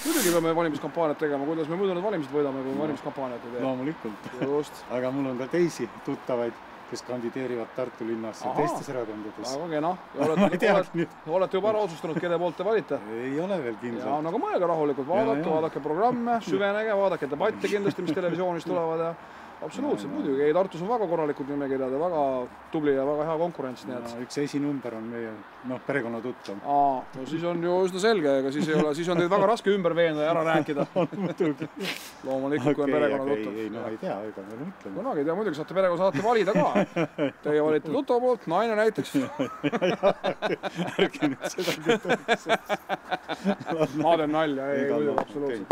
Muidugi peame valimiskampaaniat tegema, kuidas me muidu need valimised võidame, kui valimiskampaaniat ei tee. Loomulikult. Just. Aga mul on ka teisi tuttavaid, kes kandideerivad Tartu linnas ja teistes erakondades. Väga kena. Olete juba ära otsustanud, kelle poolt te valite? Ei ole veel kindlalt. Ja, aga mõelge rahulikult, vaadake programme, süvenege, vaadake debatte kindlasti, mis televisioonis tulevad ja absoluutselt muidugi. Ei, Tartus on väga korralikud nimekirjad ja väga tubli ja väga hea konkurents. Üks esinumber on meie perekonna tuttav. No siis on ju üsna selge, aga siis on teid väga raske ümber veenda ja ära rääkida. Loomulikult, kui on perekonna tuttav. Ei, ei tea, ega me mõtleme. Kunagi ei tea, muidugi saate valida ka. Teie valite tuttava poolt, naine näiteks. Ärge nüüd seda küll. Ma teen nalja, ei, muidugi absoluutselt.